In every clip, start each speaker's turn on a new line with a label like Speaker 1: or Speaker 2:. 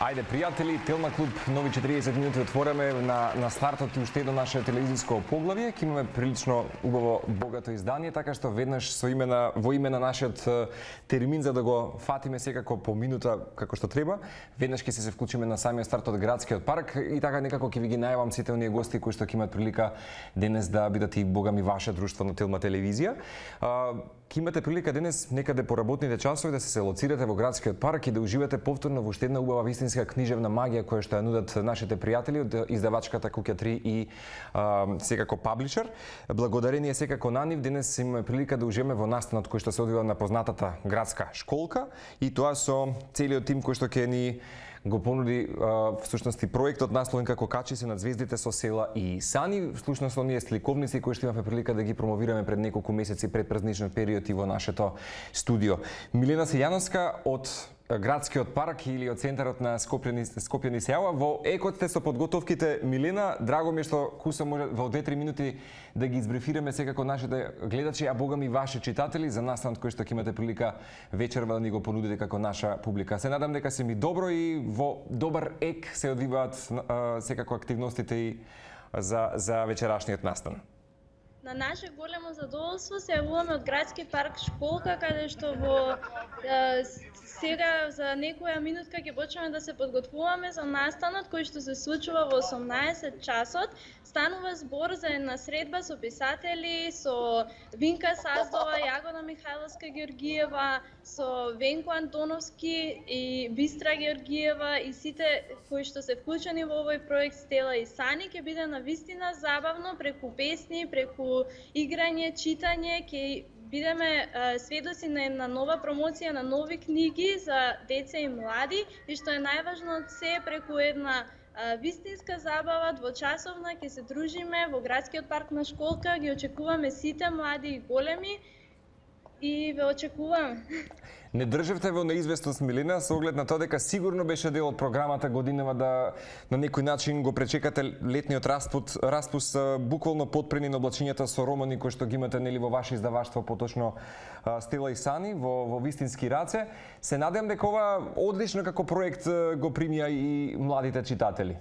Speaker 1: Ајде, пријатели, Телма клуб, нови 40 минути отвораме на стартот и уште едно наше телевизиско поглавје. Ке имаме прилично убаво богато издание, така што веднаш во име на нашиот термин за да го фатиме секако по минута како што треба, веднаш ќе се вклучиме на самиот старт од градскиот парк и така некако ќе ви ги најавам сите оние гости кои што ќе имаат прилика денес да бидат и богами ваше друштво на Телма телевизија. Ке имате прилика денес некаде по работните часови да се лоцирате во градскиот парк и да уживате повторно во уште една убава вистинска книжевна магија која што ја нудат нашите пријатели од издавачката Куќа 3 и секако паблишер. Благодарение секако на нив денес имаме прилика да уживаме во настанот кој што се одвива на познатата градска школка и тоа со целиот тим кој што ќе ни го понуди всушност и проектот насловен како Качи се над звездите со села и сани. Всушност оние сликовници кои што имавме прилика да ги промовираме пред неколку месеци пред празничниот период и во нашето студио. Милена Сејановска од градскиот парк или од центарот на Скопје ни се јава. Во екот сте со подготовките. Милена, драго ми е што Куса може во 2-3 минути да ги избрифираме секако нашите гледачи, а богами и ваши читатели за настанот кој што ќе имате прилика вечерва да ни го понудите како наша публика. Се надам дека се ми добро и во добар ек се одвиваат секако активностите и за вечерашниот настан.
Speaker 2: На наше големо задоволство се јавуваме од градски парк школка, каде што во сега за некоја минутка ќе почнеме да се подготвуваме за настанот кој што се случува во 18 часот. Станува збор за една средба со писатели, со Винка Саздова, Јагода Михајловска Георгиева, со Венко Антоновски и Бистра Георгиева и сите кои што се вклучени во овој проект Стела и Сани. Ќе биде навистина забавно преку песни, преку играње, читање, ќе бидеме сведоци на една нова промоција на нови книги за деца и млади и што е најважно од се преку една вистинска забава, двочасовна, ќе се дружиме во градскиот парк на школка, ги очекуваме сите млади и големи и ве очекуваме.
Speaker 1: Не држевте во неизвестност, Милена, со оглед на тоа дека сигурно беше дел од програмата годинава да на некој начин го пречекате летниот распуст буквално подпрени на облачињата со романи кои што ги имате нели во ваше издаваштво, поточно Стела и Сани во вистински раце. Се надевам дека ова одлично како проект го примија и младите читатели.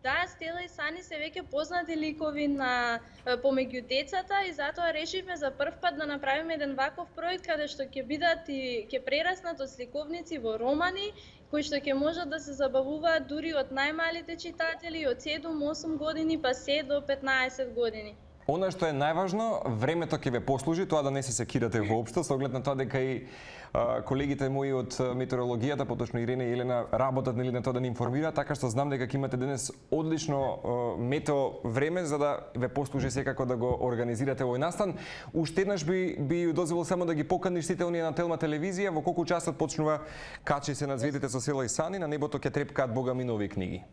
Speaker 2: Да, Стела и Сани се веќе познати ликови на помеѓу децата и затоа решивме за прв пат да направиме еден ваков проект каде што ќе бидат и ќе прераснат од сликовници во романи кои што ќе можат да се забавуваат дури од најмалите читатели од 7-8 години па се до 15 години.
Speaker 1: Она што е најважно, времето ќе ве послужи, тоа да не се секирате воопшто, со оглед на тоа дека и колегите мои од метеорологијата, поточно Ирене и Елена, работат нели на тоа да ни информираат, така што знам дека ќе имате денес одлично метео време за да ве послужи секако да го организирате овој настан. Уште еднаш би дозволил само да ги поканиш сите оние на Телма телевизија, во колку часот почнува Качи се над звездите со села и сани, на небото ќе трепкаат богами нови книги.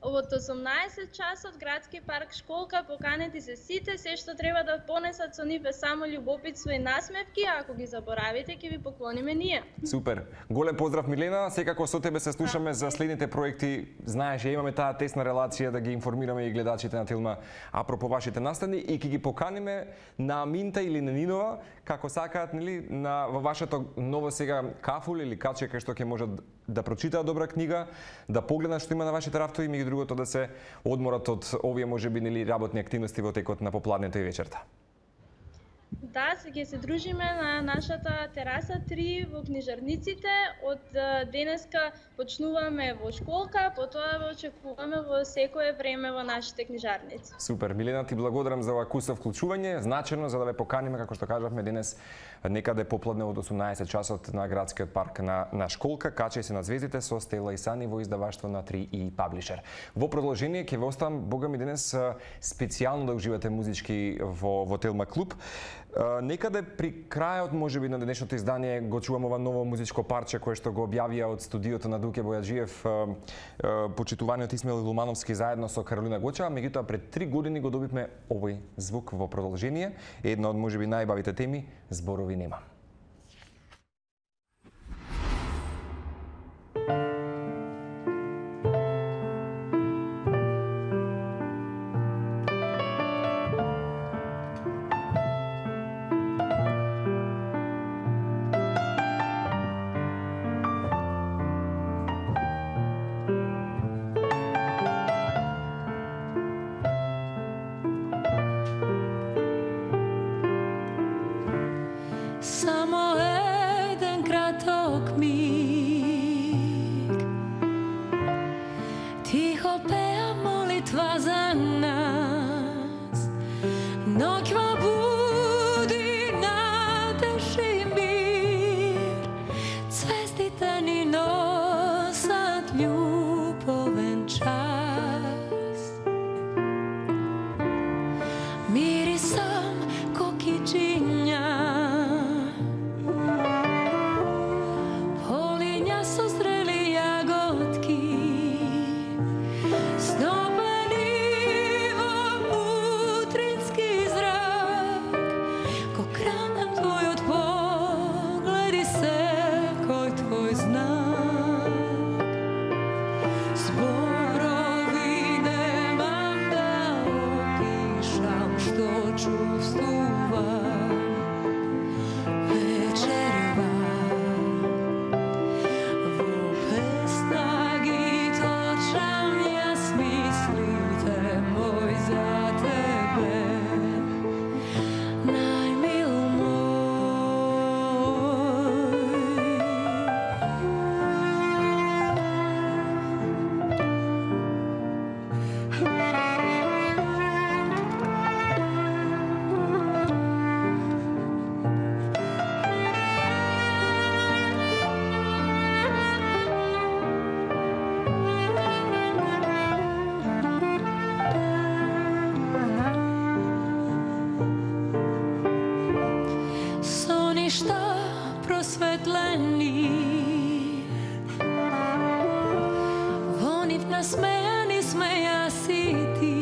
Speaker 2: Од 18 часот градски парк школка, поканети се сите, се што треба да понесат со нив е само љубопитство и насмевки, а ако ги заборавите ќе ви поклониме ние.
Speaker 1: Супер. Голем поздрав, Милена. Секако со тебе се слушаме за следните проекти. Знаеш, имаме таа тесна релација да ги информираме и гледачите на Телма апропо вашите настани и ќе ги поканиме на Аминта или на Нинова, како сакаат, нели, во вашето ново сега кафул или каче кај што ќе можат да прочитаат добра книга, да погледнат што има на вашите рафтови и меѓу другото да се одморат од овие можеби нели работни активности во текот на попладнето и вечерта.
Speaker 2: Да, ќе се дружиме на нашата тераса 3 во книжарниците. Од денеска почнуваме во школка, потоа ве очекуваме во секое време во нашите книжарници.
Speaker 1: Супер, Милена, ти благодарам за ова куса вклучување, значено за да ве поканиме, како што кажавме денес, некаде попладне од 18 часот на градскиот парк на школка, Качи се над звездите со Стела и Сани во издаваштво на 3 и паблишер. Во продолжение ќе ве оставам богами денес специјално да уживате музички во Телма клуб. Некаде при крајот можеби на денешното издание го чувам ова ново музичко парче кое што го објавија од студиото на Дуке Бојаджиев почитуваниот Исмаил Лумановски заедно со Каролина Гочева, меѓутоа пред 3 години го добивме овој звук во продолжение, една од можеби најбавите теми, зборови нема.
Speaker 3: Само еден краток миг, тихо пеа молитва за нас, ноќва буди надеж и мир, цвестите ни носат љубовен час. Мирисам кокичиња, полиња со зрели јаготки, стопени во утрински зрак, ко кранам твојот поглед и секој твој знак. Зборови немам да опишам што чувствувам вечерва. Во песна ги точам јас мислите мој за тебе, најмил со ништа просветлени, во нив насмејани сме јас и ти,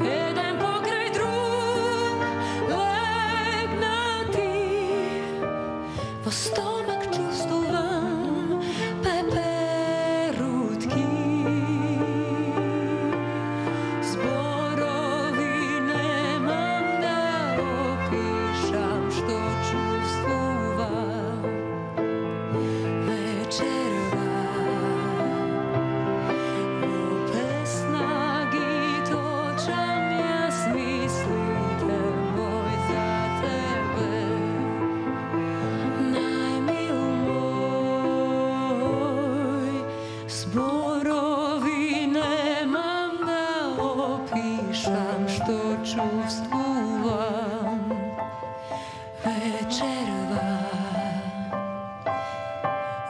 Speaker 3: еден покрај друг легнати, во стомак чувствувам пеперутки. Зборови немам да опишам што чувствувам вечерва. Во песна ги точам јас мислите мој за тебе, најмил мој. Зборови немам да опишам што чувствувам вечерва.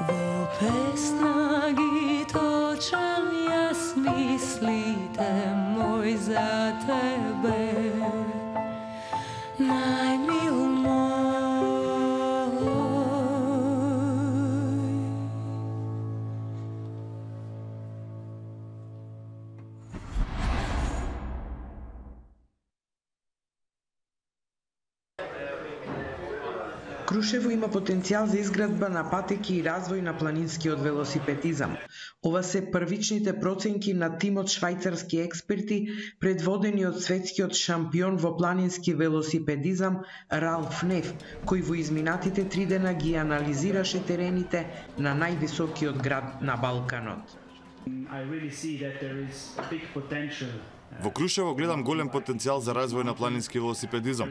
Speaker 3: Во песна ги точам јас мислите мој за тебе, најмил мој.
Speaker 4: Крушево има потенцијал за изградба на патеки и развој на планинскиот велосипедизам. Ова се првичните проценки на тимот швајцарски експерти предводени од светскиот шампион во планински велосипедизам Ралф Неф, кој во изминатите 3 дена ги анализираше терените на највисокиот град на Балканот.
Speaker 5: I really see that there is a big potential.
Speaker 6: Во Крушево гледам голем потенцијал за развој на планински велосипедизам.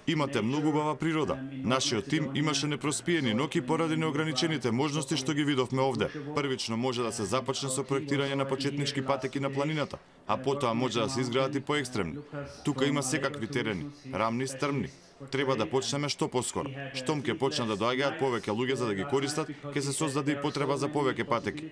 Speaker 6: Имате многу убава природа. Нашиот тим имаше непроспиени ноќи поради неограничените можности што ги видовме овде. Првично може да се започне со проектирање на почетнички патеки на планината, а потоа може да се изградат и поекстремни. Тука има секакви терени, рамни, стрмни. Треба да почнеме што поскоро. Штом ќе почнат да доаѓаат повеќе луѓе за да ги користат, ќе се создаде и потреба за повеќе патеки.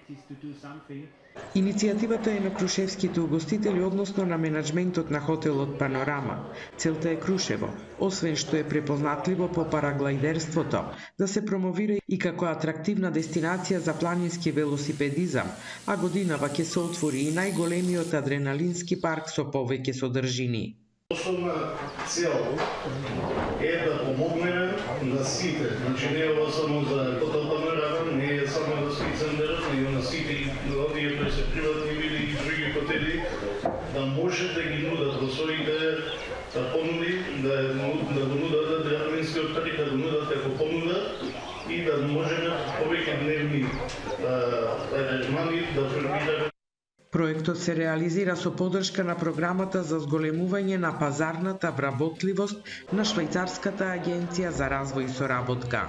Speaker 4: Иницијативата е на крушевските угостители, односно на менаџментот на хотелот Панорама. Целта е Крушево, освен што е препознатливо по параглайдерството, да се промовира и како атрактивна дестинација за планински велосипедизам, а годинава ќе се отвори и најголемиот адреналински парк со повеќе содржини.
Speaker 7: Основна цел е да помогнеме на сите, значи не е ова само за хотел Панорама, не е само за ски центарот, но и на сите овие кои се приватни или и други хотели, да може да ги нудат во своите понуди, да го нудат адреналинскиот парк, да го нудат како понуда и да можеме повеќе дневни аранжмани да формираме.
Speaker 4: Проектот се реализира со поддршка на програмата за зголемување на пазарната вработливост на Швајцарската агенција за развој и соработка.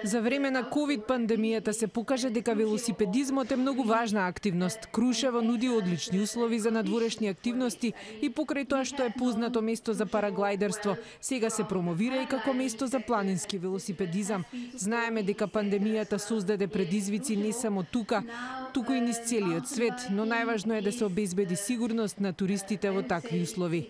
Speaker 8: За време на ковид пандемијата се покажа дека велосипедизмот е многу важна активност. Крушево нуди одлични услови за надворешни активности и покрај тоа што е познато место за параглайдерство, сега се промовира и како место за планински велосипедизам. Знаеме дека пандемијата создаде предизвици не само тука, туку и низ целиот свет, но најважно е да се обезбеди сигурност на туристите во такви услови.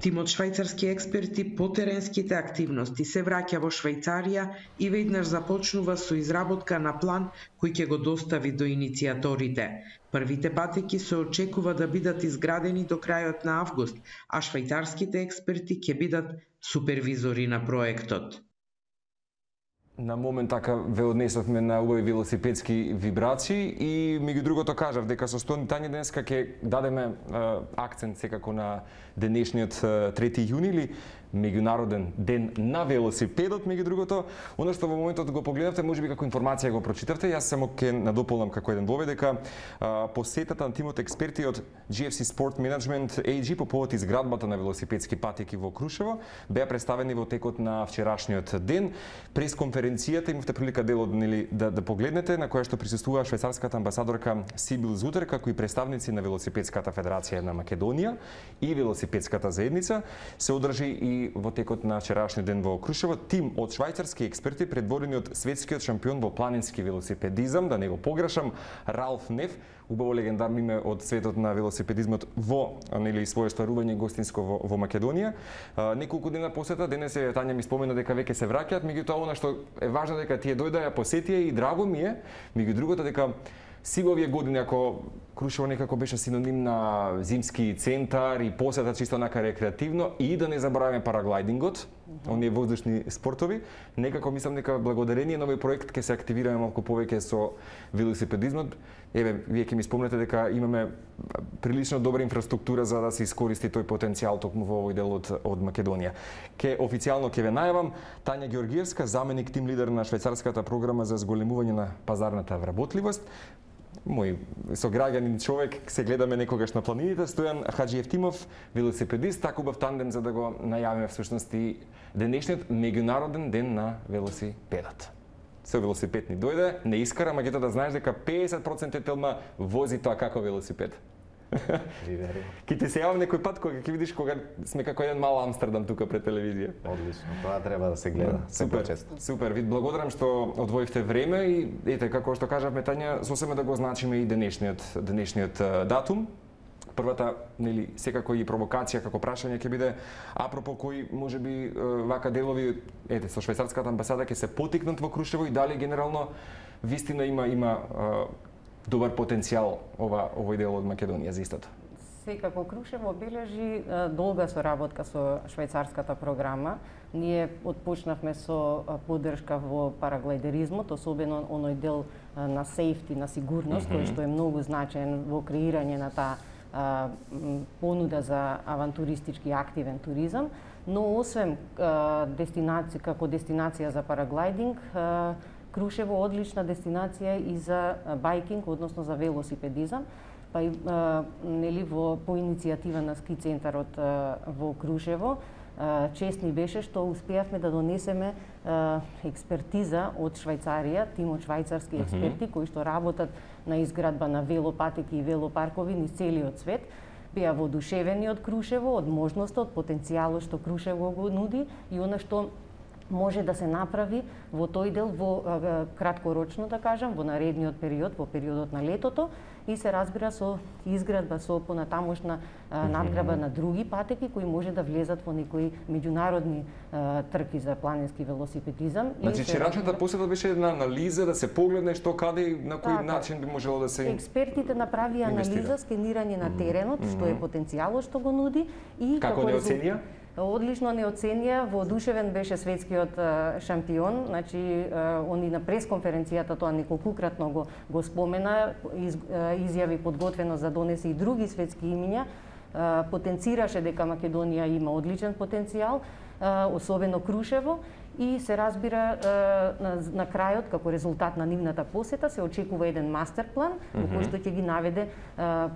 Speaker 4: Тимот швајцарски експерти по теренските активности се враќа во Швајцарија и веднаш започнува со изработка на план кој ќе го достави до иницијаторите. Првите патеки се очекува да бидат изградени до крајот на август, а швајцарските експерти ќе бидат супервизори на проектот.
Speaker 1: На момент така ве однесовме на убави велосипедски вибрации и меѓу другото кажав дека со Тања денеска ќе дадеме акцент секако на денешниот 3 јуни или меѓународен ден на велосипедот, меѓу другото. Оно што во моментот го погледнавте, можеби како информација го прочитавте, јас само ќе надополнам како еден вовед дека посетата на тимот експерти од GFC Sport Management AG по повод изградбата на велосипедски патеки во Крушево беа представени во текот на вчерашниот ден. Пресконференцијата имавте прилика дел од да погледнете, на која што присуствува швајцарската амбасадорка Сибил Зутер, како и представници на Велосипедската федерација на Македонија и Велосипедската заедница. Се одржи и во текот на вчерашниот ден во Крушево тим од швајцарски експерти предводени од светскиот шампион во планински велосипедизам, да не го погрешам, Ралф Неф, убаво легендарно име од светот на велосипедизмот во своје стварување гостинско во Македонија. Неколку дена посета, денес Тања ми спомена дека веќе се враќаат, меѓутоа она што е важно дека тие дојдоа, ја посетија и драго ми е, меѓу другото дека сига овие години, ако Крушево некако беше синоним на зимски центар и посета чисто онака рекреативно и да не забораваме параглайдингот, оние воздушни спортови, некако мислам дека благодарение на овој проект ќе се активираме малку повеќе со велосипедизмот. Еве, вие ќе ми спомнете дека имаме прилично добра инфраструктура за да се искористи тој потенцијал токму во овој дел од Македонија. Официјално ќе ве најавам Тања Георгиевска, заменик тим лидер на швајцарската програма за зголемување на пазарната вработливост. Мој сограѓанин човек, се гледаме некогаш на планините, Стојан Хаджиевтимов, велосипедист, така убав тандем за да го најавиме всушност и денешниот меѓународен ден на велосипедот. Со велосипед ни дојде, не искара, меѓутоа да знаеш дека 50% телма вози тоа како велосипед. Ке ти се јавам некој пат кога ќе видиш кога сме како еден мал Амстердам тука пред телевизија.
Speaker 9: Одлично, тоа треба да се гледа.
Speaker 1: Супер, ви благодарам што одвоивте време и ете како што кажавме Тања, сосема да го значиме и денешниот датум. Првата, секако и провокација како прашање ќе биде апропо кои можеби вака делови со швајцарската амбасада ќе се потикнат во Крушево и дали генерално вистина има добар потенцијал овој дел од Македонија за истото.
Speaker 10: Секако Крушево бележи долга соработка со швајцарската програма. Ние отпочнавме со поддршка во параглайдеризмот, особено оној дел на сейфти, на сигурност, кој што е многу значаен во креирање на таа понуда за авантуристички активен туризам, но освен дестинација како дестинација за параглайдинг, Крушево одлична дестинација и за байкинг, односно за велосипедизам, па и по иницијатива на ски центарот во Крушево. Чест ни беше што успеавме да донесеме експертиза од Швајцарија, тим од швајцарски експерти кои што работат на изградба на велопатеки и велопаркови низ целиот свет. Беа воодушевени од Крушево, од можноста, од потенцијалот што Крушево го нуди и она што може да се направи во тој дел во краткорочно, да кажам, во наредниот период, во периодот на летото и се разбира со изградба, со понатамошна надграба на други патеки кои може да влезат во некои меѓународни трки за планински велосипедизам.
Speaker 1: Значи, вчерашната посета беше една анализа да се погледне што каде и на кој начин би можело да се
Speaker 10: експертите направија анализа, скенирање на теренот, што е потенцијалот што го нуди и
Speaker 1: како не оценија?
Speaker 10: Одлично не оценија, воодушевен беше светскиот шампион, значи они на пресконференцијата тоа неколкукратно го спомена, изјави подготвено за донесе и други светски имиња, потенцираше дека Македонија има одличен потенцијал, особено Крушево, и се разбира на крајот, како резултат на нивната посета, се очекува еден мастер план во кој што ќе ги наведе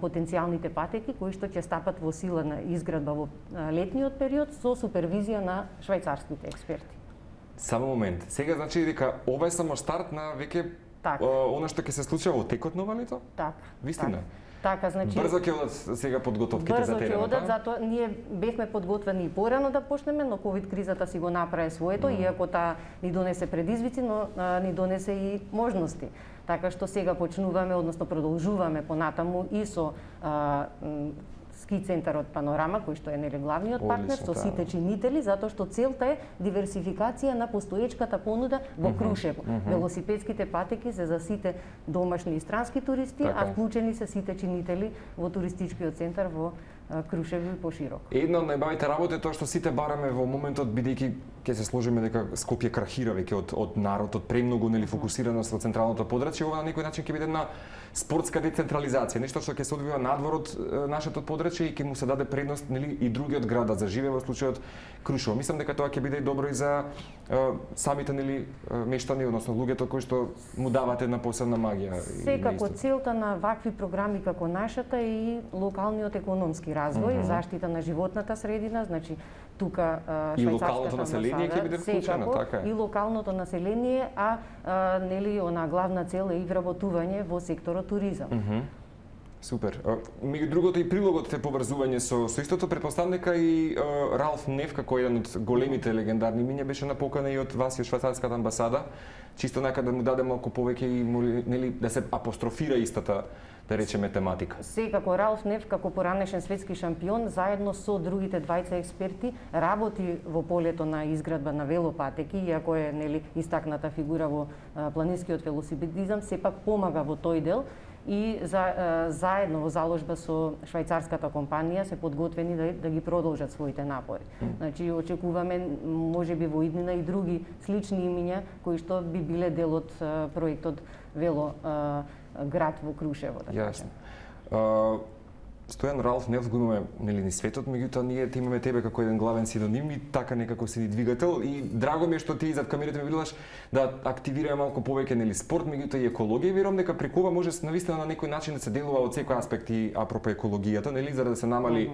Speaker 10: потенцијалните патеки кои што ќе стапат во сила на изградба во летниот период со супервизија на швајцарските експерти.
Speaker 1: Само момент. Сега значи дека ова е само старт на веќе она што ќе се случи во текот на лето?
Speaker 10: Така.
Speaker 1: Вистина.
Speaker 10: Така, значи
Speaker 1: брзо ќе одат сега подготовките за теренот.
Speaker 10: Брзо ќе одат, затоа ние бевме подготвени и порано да почнеме, но ковид кризата си го направи своето, иако таа ни донесе предизвици, но ни донесе и можности. Така што сега почнуваме, односно продолжуваме понатаму и со ски центарот Панорама, кој што е нели главниот партнер, со сите чинители, затоа што целта е диверсификација на постоечката понуда во Крушево. Велосипедските патеки се за сите домашни и странски туристи, а вклучени се сите чинители во туристичкиот центар во Крушево и пошироко.
Speaker 1: Една од најбавите работи е тоа што сите бараме во моментот, бидејќи ќе се сложиме дека Скопје крахира веќе од народ, од премногу нели фокусираност во централното подрачје, ова на некој начин ќе биде една спортска децентрализација, нешто што ќе се одвива надвор од нашето подрачје и ќе му се даде предност нели и другиот град да заживее, во случајот Крушево. Мислам дека тоа ќе биде и добро и за самите нели мештани, односно луѓето кои што му дават една посебна магија.
Speaker 10: Секако целта на вакви програми како нашата е и локалниот економски развој, заштита на животната средина, значи тука
Speaker 1: и локалното население ќе биде вклучено, така е.
Speaker 10: И локалното население, нели она главна цел е и вработување во секторот туризам.
Speaker 1: Супер. Меѓу другото и прилогот е поврзување со истото, претпоставам дека и Ралф Неф како еден од големите легендарни имиња беше на покана и од вас и од швајцарската амбасада, чисто нека да му даде малку повеќе и нели да се апострофира истата, да речеме, тематика.
Speaker 10: Секако Ралф Неф како поранешен светски шампион заедно со другите двајца експерти работи во полето на изградба на велопатеки, иако е нели истакната фигура во планинскиот велосипедизам, сепак помага во тој дел и заедно во заложба со швајцарската компанија се подготвени да ги продолжат своите напори. Значи очекуваме можеби во иднина и други слични имиња кои што би биле дел од проектот Вело град во Крушево, да кажем.
Speaker 1: Стојан, Ралф Неф го имаме нели ни светот, меѓутоа ние те имаме тебе како еден главен синоним и така некако си ни двигател и драго ми е што ти зад камерите ме виделаш да активираме малку повеќе нели спорт, меѓутоа и екологија, верувам дека преку ова може навистина на некој начин да се делува од секој аспект и апропо екологијата, нели за да се намали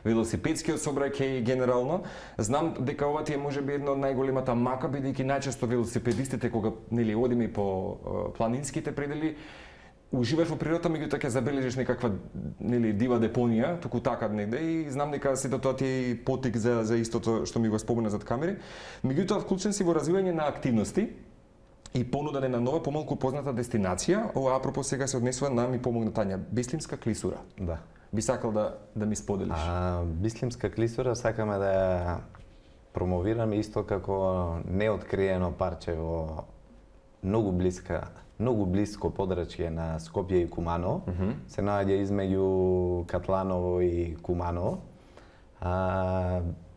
Speaker 1: велосипедскиот сообраќај генерално. Знам дека ова ти е можеби една од најголемата мака, бидејќи најчесто велосипедистите кога нели одиме по планинските предели уживаш во природата, меѓутоа ќе забележиш некаква нели дива депонија, туку така негде и знам дека сето тоа ти е потик за истото што ми го спомена зад камери. Меѓутоа вклучен си во развивање на активности и понудене на нова помалку позната дестинација. Ова апропо сега се однесува на ми помогна Тања, Бислимска клисура.
Speaker 9: Да.
Speaker 1: Би сакал да ми споделиш.
Speaker 9: Бислимска клисура сакаме да ја промовираме исто како неоткриено парче во многу блиско подрачје на Скопје и Куманово. Се наоѓа измеѓу Катланово и Куманово.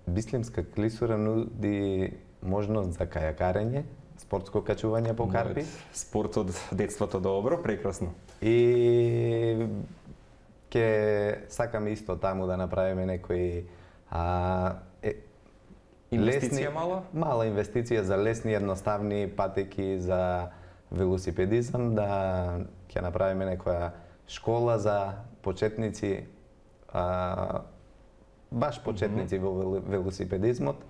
Speaker 9: Бислимска клисура нуди можност за кајакарење, спортско качување по карпи.
Speaker 1: Спорт од детството добро, прекрасно.
Speaker 9: И ќе сакаме исто таму да направиме некои
Speaker 1: инвестиција
Speaker 9: мала инвестиција за лесни едноставни патеки за велосипедизам, да ќе направиме некоја школа за почетници, баш почетници во велосипедизмот.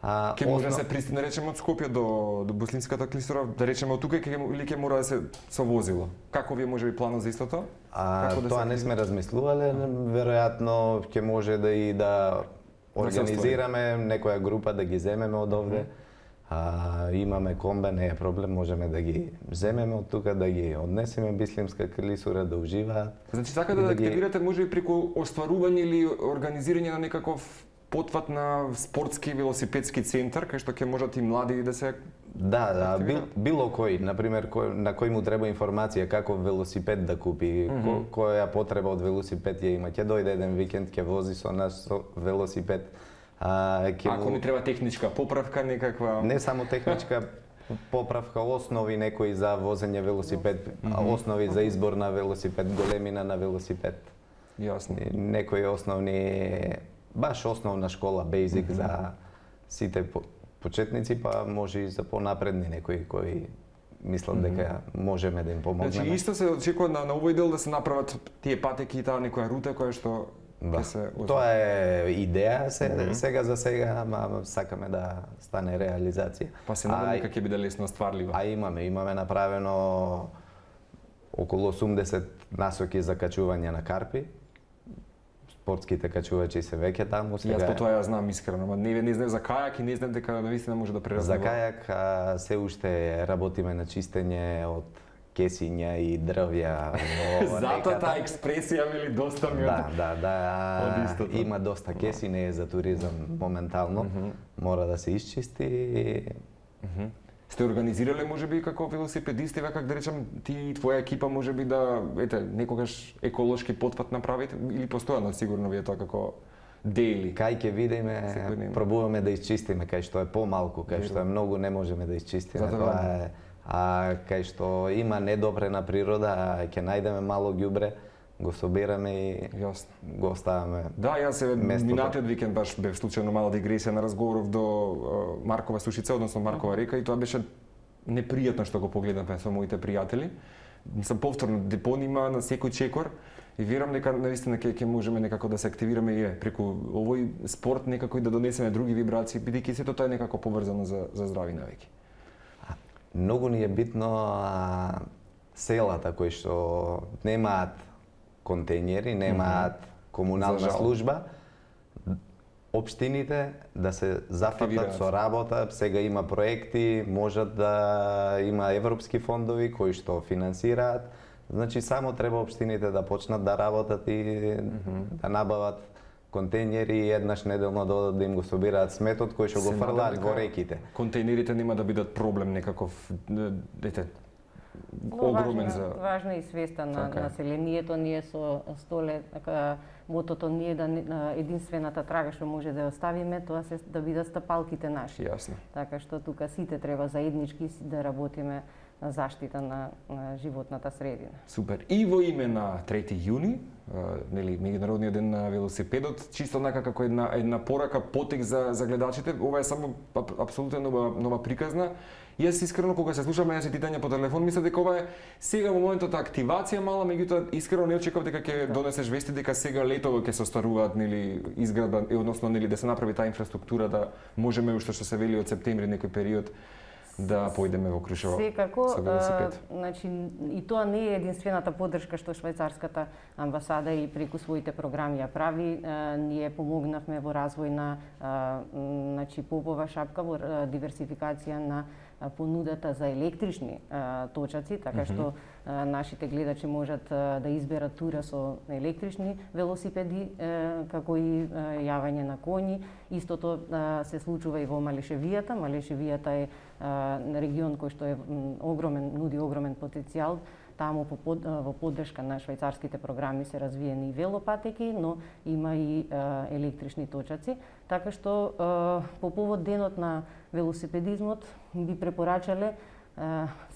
Speaker 1: Ќе може да се пристигне, да речеме, од Скопје до Бислимската клисура, да речеме од тука или ќе мора да се со возило? Како ви е можеби планот за истото?
Speaker 9: Тоа не сме размислувале, веројатно ќе може да организираме некоја група да ги земеме од овде. Имаме комбе, не е проблем, можеме да ги земеме од тука, да ги однесеме Бислимска клисура, да уживаат.
Speaker 1: Значи сака да активирате можеби преку остварување или организирање на некаков потват на спортски велосипедски центар, кај што ќе можат и млади да се
Speaker 9: било кој, например, на кој му треба информација како велосипед да купи, која потреба од велосипед ја има, ќе дојде еден викенд, ќе вози со нас велосипед.
Speaker 1: Ако ми треба техничка поправка некаква?
Speaker 9: Не само техничка поправка, основи некои за возење велосипед, основи за избор на велосипед, големина на велосипед.
Speaker 1: Јасно.
Speaker 9: Некои основни, баш основна школа, basic за сите почетници, па може и за понапредни некои кои мислат дека можеме да им помогнеме.
Speaker 1: Значи исто се очекува на овој дел да се направат тие патеки и таа некоја рута која што ќе се
Speaker 9: Тоа е идеја сега за сега, ама сакаме да стане реализација.
Speaker 1: Па се надам дека ќе биде лесно стварлива.
Speaker 9: А имаме направено околу 80 насоки за качување на карпи. Спортските качувачи се веќе таму сега.
Speaker 1: Јас по тоа ја знам искрено, ама не знам за кајак и не знам дека навистина може да преразнува.
Speaker 9: За кајак се уште работиме на чистење од кесиња и дрвја во
Speaker 1: Затоа таа експресија мили доста ми
Speaker 9: Да, има доста кеси, не е за туризам моментално. Мора да се исчисти.
Speaker 1: Сте организирале можеби како велосипедисти, како да речам, ти и твоја екипа можеби да некогаш еколошки потпат направите или постојано сигурно ви е тоа како дели?
Speaker 9: Кај ќе видиме, пробуваме да исчистиме, кај што е помалку, кај што е многу не можеме да исчистиме. Тоа е, а кај што има недопрена природа, ќе најдеме мало ѓубре, го собираме и го оставаме.
Speaker 1: Да, јас минатиот викенд баш бев случајно мала дигресија на разговоров до Маркова сушица, односно Маркова река, и тоа беше непријатно што го погледнавме со моите пријатели. Сам повторно депонима на секој чекор и верам дека наистина ќе можеме некако да се активираме и преку овој спорт некако и да донесеме други вибрации, бидејќи сето тоа е некако поврзано за здрави навики.
Speaker 9: Многу ни е битно селата кои што немаат контејнери, немаат комунална служба, општините да се зафатат со работа, сега има проекти, можат да има европски фондови кои што финансираат. Значи само треба општините да почнат да работат и да набават контејнери и еднаш неделно да им го собираат сметот кој што го фрлаат во реките.
Speaker 1: Контејнерите нема да бидат проблем некаков, огромен за...
Speaker 10: Важна и свеста на населението. Ние со Столе, мотото ние да единствената трага што може да ја оставиме, тоа се да бидат стапалките наши.
Speaker 1: Јасно.
Speaker 10: Така што тука сите треба заеднички да работиме на заштита на животната средина.
Speaker 1: Супер. И во име на 3 јуни, нели меѓународниот ден на велосипедот, чисто онака како една порака, потек за гледачите, ова е само апсолутно нова приказна. Јас искрено кога се слушам јас питања по телефон, мислам дека ова е сега во моментот активација мала, меѓутоа искрено не очекував дека ќе донесеш вести дека сега летово ќе се остаруваат нели изградба, односно нели да се направи таа инфраструктура да можеме уште што се вели од септември некој период да појдеме во Крушево со велосипед.
Speaker 10: Значи и тоа не е единствената поддршка што швајцарската амбасада и преку своите програми ја прави. Ние помогнавме во развој на значи попова шапка во диверсификација на понудата за електрични точаци, така што нашите гледачи можат да изберат тура со електрични велосипеди, како и јавање на коњи. Истото се случува и во Малешевијата. Малешевијата е регион кој што е нуди огромен потенцијал. Таму во поддршка на швајцарските програми се развиени и велопатеки, но има и електрични точаци. Така што по повод денот на велосипедизмот би препорачале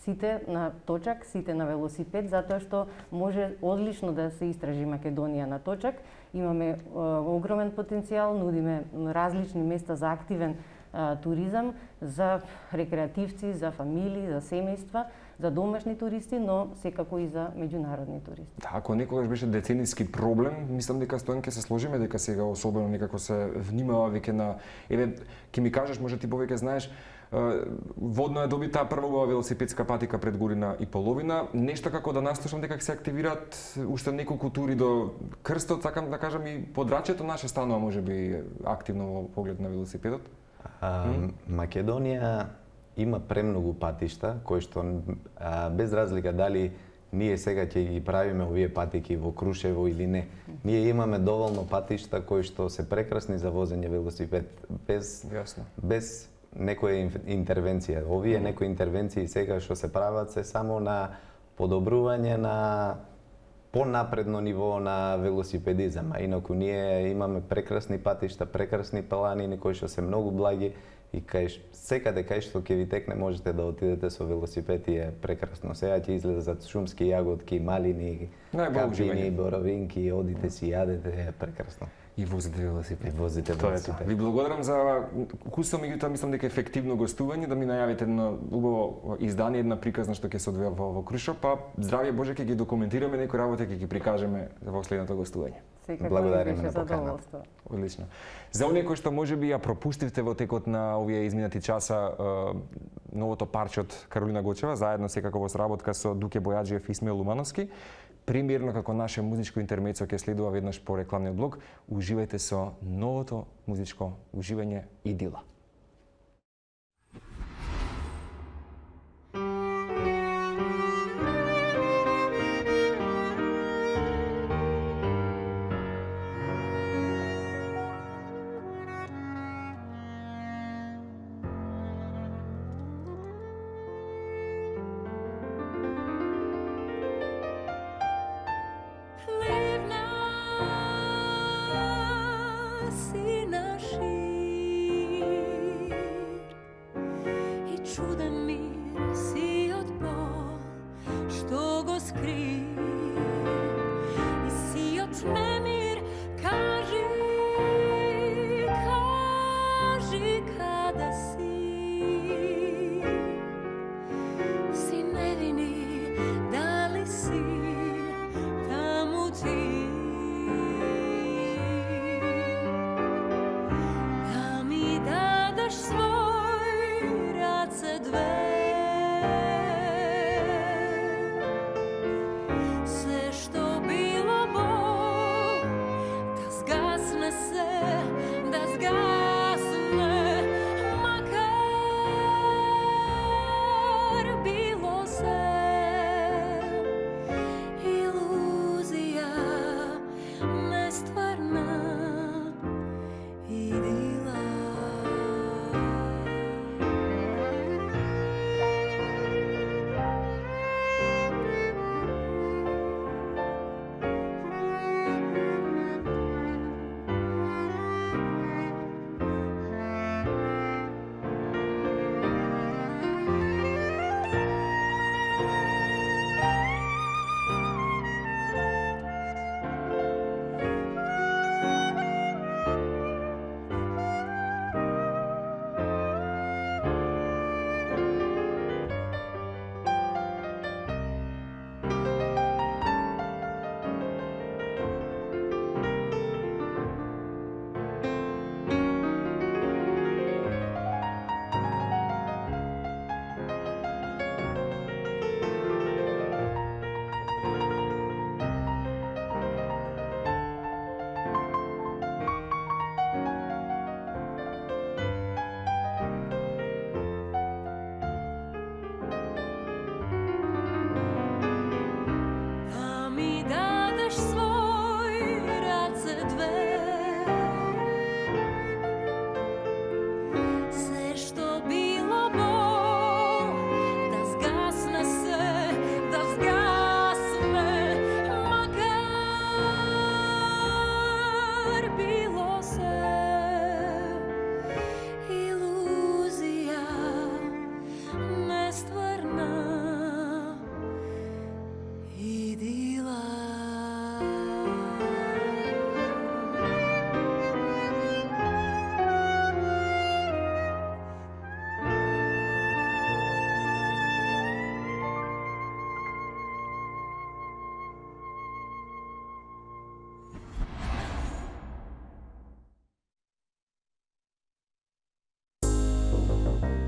Speaker 10: сите на точак, сите на велосипед, затоа што може одлично да се истражи Македонија на точак. Имаме огромен потенцијал, нудиме различни места за активен туризам, за рекреативци, за фамилии, за семејства, за домашни туристи, но секако и за меѓународни туристи.
Speaker 1: Да, ако некогаш беше децениски проблем, мислам дека Стојан ќе се сложиме дека сега особено некако се внимава веќе на ќе ми кажеш, може ти повеќе знаеш, водно е добита прва велосипедска патика пред година и половина. Нешто како да наслушам дека ќе се активираат уште неколку тури до крстот, сакам да кажам и подрачјето наше станува можеби активно во поглед на велосипедот.
Speaker 9: Македонија има премногу патишта кои што без разлика дали ние сега ќе ги правиме овие патики во Крушево или не. Ние имаме доволно патишта кои што се прекрасни за возење велосипед без некоја интервенција. Овие некои интервенции сега што се прават се само на подобрување на понапредно ниво на велосипедизам, а инаку ние имаме прекрасни патишта, прекрасни планини кои што се многу благи и секаде кај што ќе ви текне можете да отидете со велосипед и е прекрасно. Сега ќе излезат шумски јаготки, малини, капини, боровинки, одите си јадете, е прекрасно.
Speaker 1: И возите велосипед.
Speaker 9: И возите
Speaker 1: Тоа е
Speaker 9: велосипед.
Speaker 1: тоа. Ви благодарам за кусо, меѓутоа мислам дека ефективно гостување, да ми најавите едно убаво издание, една приказна што ќе се одвива во Крушо, па здравје Боже, ќе ги документираме некои работи, ќе ги прикажеме во следното гостување.
Speaker 9: Благодариме на поканата.
Speaker 1: Одлично. За оние кои што можеби ја пропустивте во текот на овие изминати часа новото парче од Каролина Гочева, заедно секако во сработка со Дуке Бојаджиев и Исмаил Лумановски, премиерно како наше музичко интермецо ќе следува веднаш по рекламниот блок. Уживајте со новото музичко уживање Идила.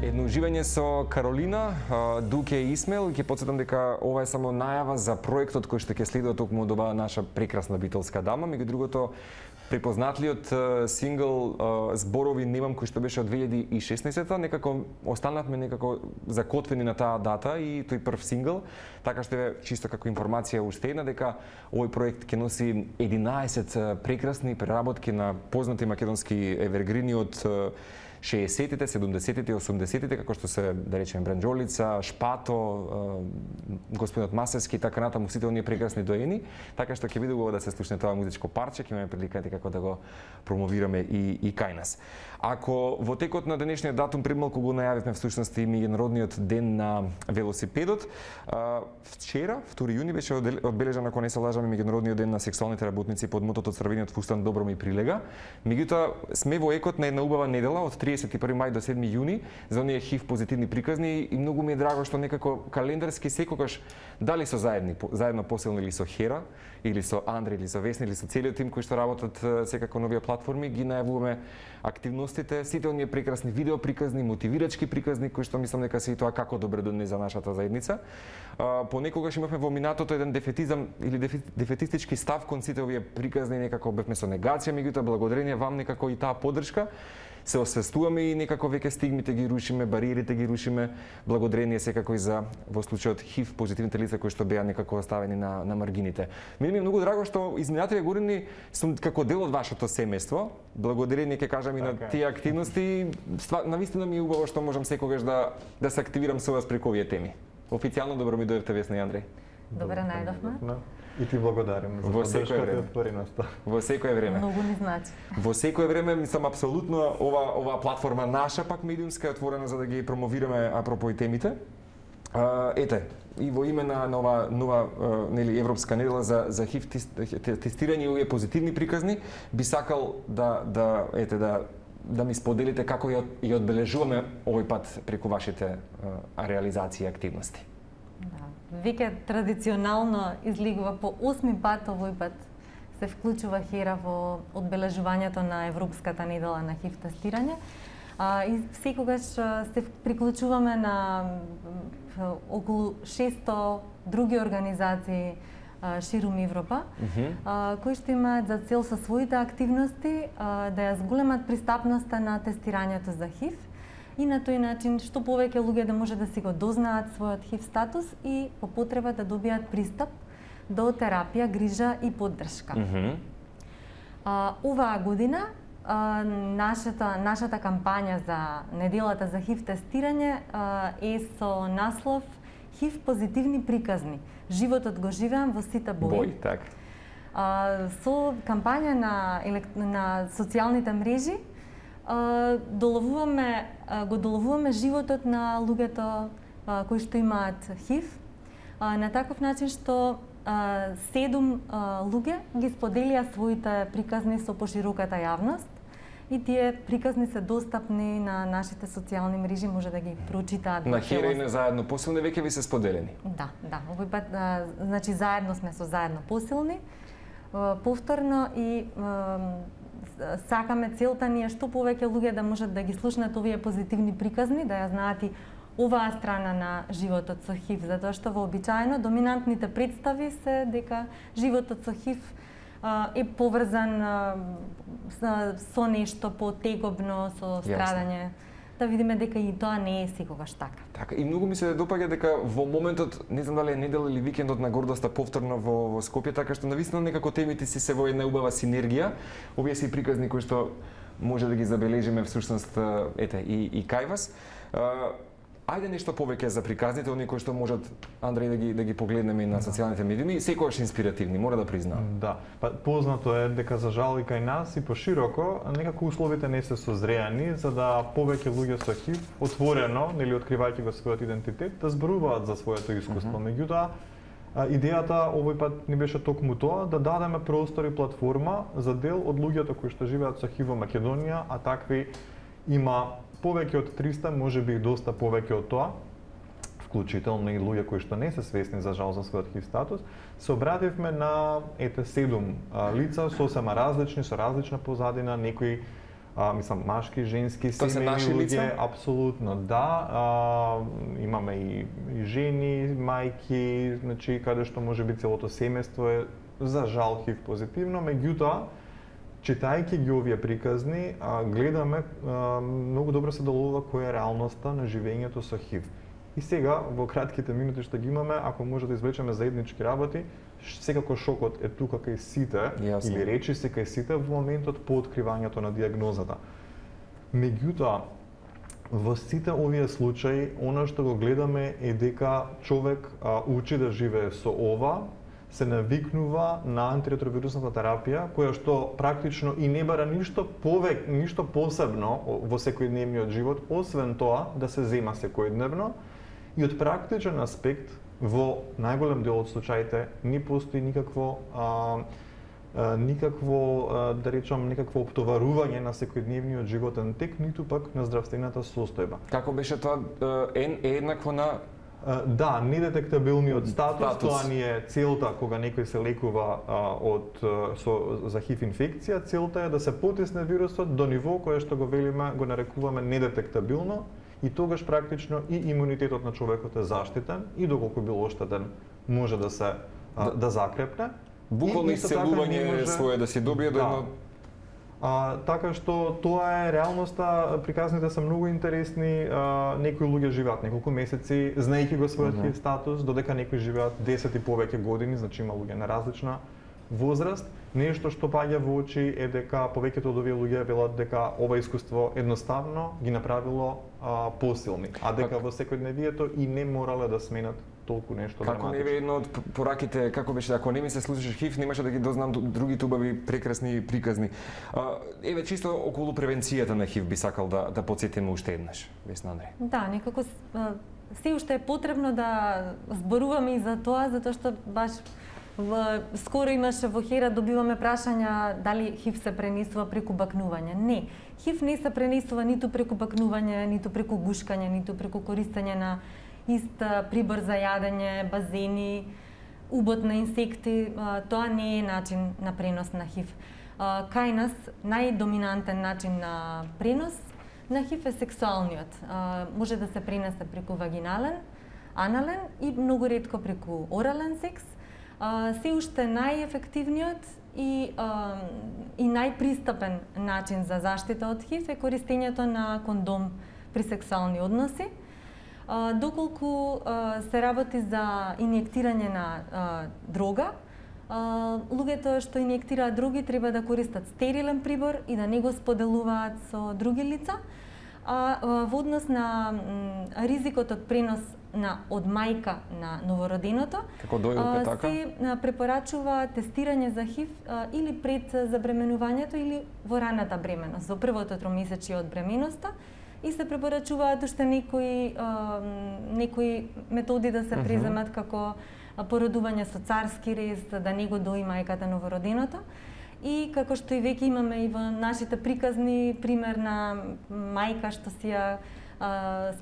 Speaker 1: Едно уживање со Каролина, Дуке и Исмаил. Ќе потсетам дека ова е само најава за проектот кој што ќе следува токму од оваа наша прекрасна битолска дама. Меѓу другото, препознатлиот сингл Зборови немам, кој што беше од 2016-та, некако останавме некако закотвени на таа дата и тој прв сингл. Така што е чисто како информација уште една дека овој проект ќе носи 11 прекрасни преработки на познати македонски евергрини од 60-тите, 70-тите, 80-тите, како што се, да речеме, Бранџолица, Шпато, господинот Масевски и така натаму, сите оние прекрасни доени, така што ќе биде убаво да се слушне тоа музичко парче, ќе имаме прилика како да го промовираме и кај нас. Ако во текот на денешниот датум премалку го најавивме всушност и меѓународниот ден на велосипедот, вчера, 2 јуни, беше одбележан, ако не се лажаме, меѓународниот ден на сексуалните работници под мотото Црвениот фустан добро ми прилега. Меѓутоа сме во екот на една убава недела од 31 мај до 7 јуни за оние HIV позитивни приказни и многу ми е драго што некако календарски секогаш дали со заедно посилни или со Хера, или со Андре, или со Весна, или со целиот тим кои што работат секако на овие платформи, ги најавуваме активностите, сите оние прекрасни видео приказни, мотивирачки приказни кои што мислам дека се и тоа како добре донесе за нашата заедница. Понекогаш имавме во минатото еден дефетизам или дефетистички став кон сите овие приказни, некако бевме со негација, меѓутоа благодарение вам некако и таа поддршка се освестуваме и некако веќе стигмите ги рушиме, бариерите ги рушиме, благодарение секако и за во случајот HIV позитивните лица кои што беа некако оставени на маргините. Мене ми е многу драго што изминатите години сум како дел од вашето семејство. Благодарение ќе кажам и на тие активности. Навистина ми е убаво што можам секогаш да се активирам со вас преку овие теми. Официјално добро ми дојдовте, Весна и Андреј.
Speaker 11: Добре најдовме.
Speaker 12: И ти благодарим за поддршката и отвореноста.
Speaker 1: Во секое време.
Speaker 11: Многу ни значи.
Speaker 1: Во секое време, мислам, апсолутно ова платформа наша, пак медиумска, е отворена за да ги промовираме апропо и темите. Ете, и во име на нова нели европска недела за HIV тестирање и овие позитивни приказни, би сакал да ми споделите како ја одбележуваме овој пат преку вашите реализации и активности.
Speaker 11: Веќе традиционално излегува по 8 пат овој пат се вклучува Хера во одбележувањето на Европската недела на HIV тестирање. И секогаш се приклучуваме на околу 600 други организации ширум Европа, кои што имаат за цел со своите активности да ја зголемат пристапноста на тестирањето за HIV и на тој начин што повеќе луѓе да може да си го дознаат својот HIV статус и по потреба да добијат пристап до терапија, грижа и поддршка. Оваа година нашата кампања за неделата за HIV тестирање е со наслов HIV позитивни приказни. Животот го живеам во сите бои.
Speaker 1: Така.
Speaker 11: Со кампања на социјалните мрежи го доловуваме животот на луѓето кои што имаат HIV на таков начин што 7 луѓе ги споделија своите приказни со пошироката јавност и тие приказни се достапни на нашите социјални мрежи, може да ги прочитаат.
Speaker 1: На Хера и на Заедно посилни веќе ви се споделени?
Speaker 11: Да, овој пат значи заедно сме со Заедно посилни, повторно и сакаме целта ни е што повеќе луѓе да можат да ги слушнат овие позитивни приказни, да ја знаат и оваа страна на животот со HIV, затоа што вообичаено доминантните представи се дека животот со HIV е поврзан со нешто потегобно, со страдање. Да видиме дека и тоа не е секогаш така.
Speaker 1: Така, и многу ми се допаѓа дека во моментот, не знам дали е недела или викендот на гордоста повторно во Скопје, така што навистина некако темите си се во една убава синергија. Овие се приказни кои што може да ги забележиме всушност и кај вас. Ајде нешто повеќе за приказните, оние кои што можат, Андреј, да ги погледнеме и на социјалните медиуми, секогаш инспиративни, мора да признам.
Speaker 12: Да, познато е дека за жал и кај нас и пошироко, некако условите не се созреани за да повеќе луѓе со HIV отворено, нели откривајќи го својот идентитет, да зборуваат за своето искуство. Меѓутоа, идејата овој пат ни беше токму тоа, да дадеме простор и платформа за дел од луѓето кои што живеат со HIV во Македонија, а такви има повеќе од 300, може би и доста повеќе од тоа, вклучително и луѓе кои што не се свесни за жал за својот HIV статус, се обративме на 7 лица сосема различни, со различна позадина, некои мислам машки, женски, семејни луѓе, апсолутно да. Имаме и жени, мајки, значи каде што може би целото семејство е за жал HIV позитивно, меѓутоа читајќи ги овие приказни, гледаме многу добро се доловува која е реалноста на живењето со HIV. И сега, во кратките минути што ги имаме, ако може да извлечеме заеднички работи, секако шокот е тука кај сите, или речи се кај сите во моментот по откривањето на диагнозата. Меѓутоа, во сите овие случаи, она што го гледаме е дека човек учи да живее со ова, се навикнува на антиретровирусната терапија, која што практично и не бара ништо посебно во секојдневниот живот, освен тоа да се зема секојдневно. И од практичен аспект, во најголем дел од случаите, не постои никакво да речам, некакво оптоварување на секојдневниот животен тек, ниту пак на здравствената состојба.
Speaker 1: Како беше тоа еднакво на
Speaker 12: Да, недетектабилниот статус, тоа ни е целта кога некој се лекува за ХИВ инфекција, целта е да се потисне вирусот до ниво кое што го велиме, го нарекуваме недетектабилно, и тогаш практично и имунитетот на човекот е заштитен и доколку бил оштетен може да се да закрепне.
Speaker 1: Буквално исцелување свое да си добие до едно.
Speaker 12: Така што тоа е реалноста, приказните се многу интересни, некои луѓе живеат неколку месеци знаејќи го својот ХИВ статус, додека некои живеат 10 и повеќе години, значи има луѓе на различна возраст. Нешто што паѓа во очи е дека повеќето од овие луѓе велат дека ова искуство едноставно ги направило посилни, а дека во секојдневието и не морале да сменат толку нешто драматично.
Speaker 1: Како не е едно од пораките, како беше, ако не ми се случиш ХИВ, немаше да ги дознам другите убави, прекрасни приказни. Еве, чисто околу превенцијата на ХИВ би сакал да потсетиме уште еднаш, Весна Андреј.
Speaker 11: Да, некако се уште е потребно да зборуваме и за тоа, затоа што баш скоро имаше во Хера, добиваме прашања дали ХИВ се пренесува преку бакнување. Не, ХИВ не се пренесува ниту преку бакнување, ниту преку гушкање, ниту преку користење на ист прибор за јадење, базени, убот на инсекти. Тоа не е начин на пренос на ХИВ. Кај нас најдоминантен начин на пренос на ХИВ е сексуалниот. Може да се пренесе преку вагинален, анален и многу ретко преку орален секс. Се уште најефективниот и најпристапен начин за заштита од ХИВ е користењето на кондом при сексуални односи. Доколку се работи за инјектирање на дрога, луѓето што инјектираат дроги треба да користат стерилен прибор и да не го споделуваат со други лица. Во однос на ризикот од пренос од мајка на новороденото, се препорачува тестирање за ХИВ или пред забременувањето или во раната бременост, во првото тромесечие од бременоста, и се препорачуваат уште некои методи да се преземат како породување со царски рез, да не го дои мајката новороденото. И како што и веќе имаме и во нашите приказни пример на мајка што си ја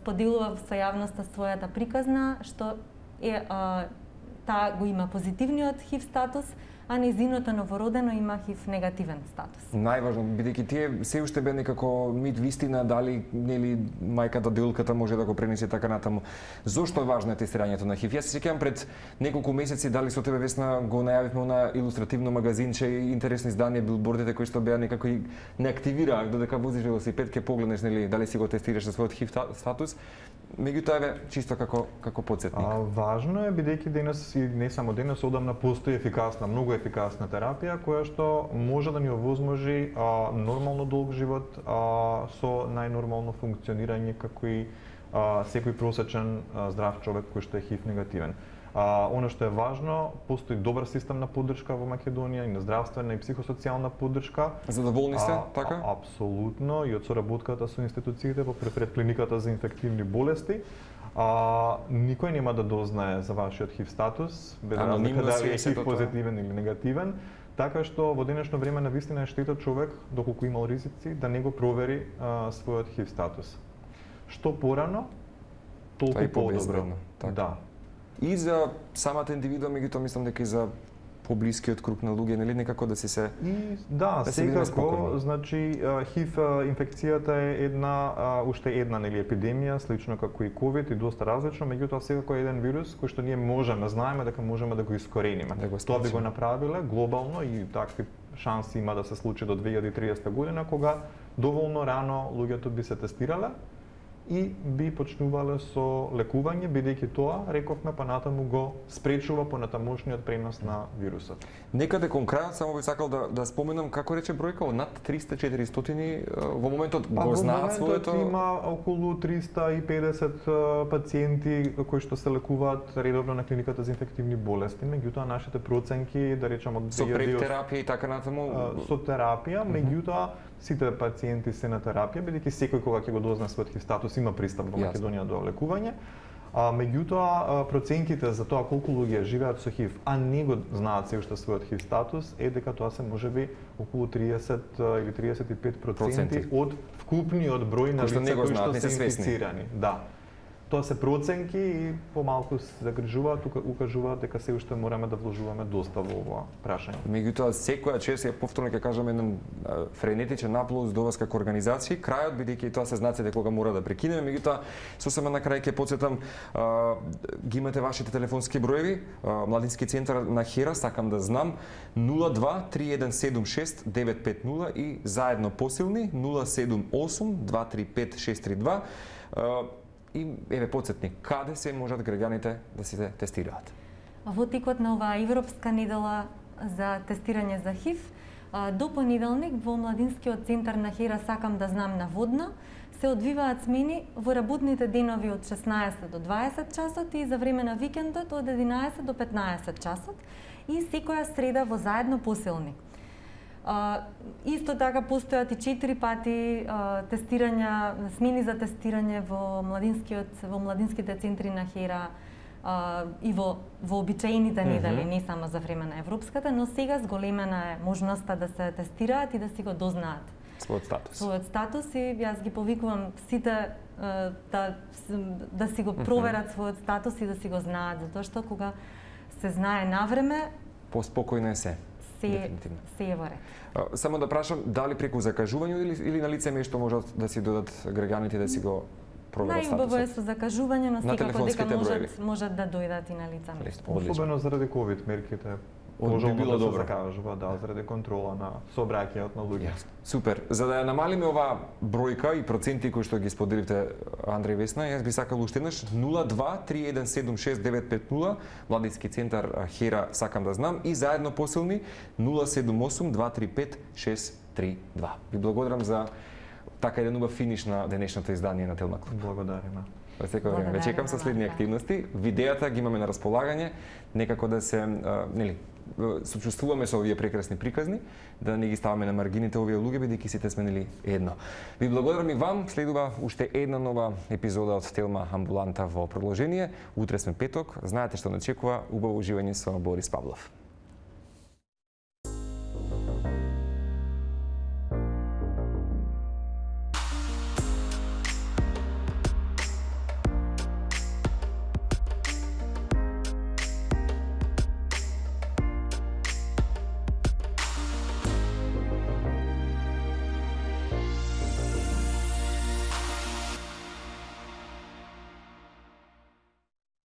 Speaker 11: споделува со јавноста својата приказна, што таа го има позитивниот ХИВ статус, а нејзиното новородено има ХИВ негативен статус.
Speaker 1: Најважно, бидејќи тие се уште бе некако мит вистина, дали нели мајката делката може да го пренесе така натаму. Зошто е важно тестирањето на ХИВ? Јас се сеќавам пред неколку месеци, дали со тебе, Весна, го најавивме на илустративно магазинче и интересни изданија, билбордите кои што беа некако и не активираа, додека возиш велосипед, ке погледнеш нели дали си го тестираш за својот ХИВ статус. Меѓутоа еве чисто како потсетник.
Speaker 12: Важно е бидејќи денес и не само денес, одамна постои ефикасна, многу ефикасна терапија која што може да ни овозможи нормално долг живот со најнормално функционирање како и секој просечен здрав човек кој што е ХИВ негативен. Оно што е важно, постои добар систем на поддршка во Македонија, и на здравствена и психосоцијална поддршка.
Speaker 1: Задоволни сте, така?
Speaker 12: Апсолутно, и од соработката со институциите во предклиниката за инфективни болести. Никој нема да дознае за вашиот ХИВ статус, без разлика дали е ХИВ позитивен или негативен, така што во денешно време навистина е штета човек, доколку имал ризици, да не го провери својот ХИВ статус. Што порано, толку подобро. Да.
Speaker 1: И за самата индивидуа, меѓутоа мислам дека и за поблискиот круг на луѓе, нели некако да си се
Speaker 12: секако, значи ХИВ инфекцијата е уште една нели епидемија, слично како и ковид и доста различно, меѓутоа секако е еден вирус кој што ние знаеме дека можеме да го искорениме. Тоа би го направиле глобално и такви шанси има да се случи до 2030 година, кога доволно рано луѓето би се тестирале и би почнувале со лекување, бидејќи тоа, рековме, па натаму го спречува понатамошниот пренос на вирусот.
Speaker 1: Некаде кон крајот само би сакал да споменам како рече бројка од над 300-400 во моментот го знаат своето.
Speaker 12: Во моментот има околу 350 пациенти кои што се лекуваат редовно на клиниката за инфективни болести, меѓутоа нашите проценки, да речам од
Speaker 1: со прептерапија и така натаму,
Speaker 12: со терапија, меѓутоа сите пациенти се на терапија, бидејќи секој кога ќе го дозна својот ХИВ статус има пристап во Македонија до лекување. Меѓутоа, проценките за тоа колку луѓе живеат со ХИВ, а не го знаат се уште својот ХИВ статус, е дека тоа се можеби околу 30 или 35% од вкупниот број на лица кои што се инфицирани. Да. Тоа се проценки и помалку се загрижуваат, укажуваат дека се уште мораме да вложуваме доста во ова прашање.
Speaker 1: Меѓутоа, секоја чест, ја повторно ќе кажам, еден френетичен аплауз до вас како организација, крајот, бидејќи тоа се знаците кога мора да прекинеме, меѓутоа, сосема на крај ќе потсетам, ги имате вашите телефонски броеви, Младински центар на Хера, сакам да знам, 02-3176-950 и заедно посилни 078-235-632. И еве потсетни, каде се можат граѓаните да се тестираат?
Speaker 11: Во текот на оваа Европска недела за тестирање за ХИВ, до понеделник во Младинскиот центар на Хера сакам да знам наводно, се одвиваат смени во работните денови од 16 до 20 часот и за време на викендот од 11 до 15 часот и секоја среда во заедно посилни. Исто така постојат и 4 пати тестирања, смени за тестирање во младинските центри на Хера и во обичаените недели, не само за време на Европската, но сега зголемена е можноста да се тестираат и да си го дознаат својот статус и јас ги повикувам сите да си го проверат својот статус и да си го знаат, затоа што кога се знае навреме,
Speaker 1: поспокојно е се.
Speaker 11: Се е во ред.
Speaker 1: Само да прашам, дали преку закажување или на лице место можат да си додат граѓаните да си го проверат статусот?
Speaker 11: Најубаво е со закажување, но секако дека можат да дојдат и на лице место.
Speaker 12: Особено заради ковид мерките.
Speaker 1: Би било добро.
Speaker 12: Закажува, да, заради контрола на сообраќајот на луѓе.
Speaker 1: Супер. За да ја намалиме оваа бројка и проценти кои што ги споделивте Андреј Весна, јас би сакал уште еднаш 02-3176-950, Младински центар Хера сакам да знам и заедно посилни 078-235-632. Ви благодарам за така еден убав финиш на денешното издание на Телма Клуб.
Speaker 12: Благодариме.
Speaker 1: Во секој време. Ве чекам со следни активности. Видеата ги имаме на располагање, некако да се сочувствуваме со овие прекрасни приказни, да не ги ставаме на маргините овие луѓе, бидејќи сите сме едно. Ви благодарам и вам. Следува уште една нова епизода од Телма Амбуланта во продолжение. Утре сме петок. Знаете што не очекува. Убаво уживање со Борис Павлов.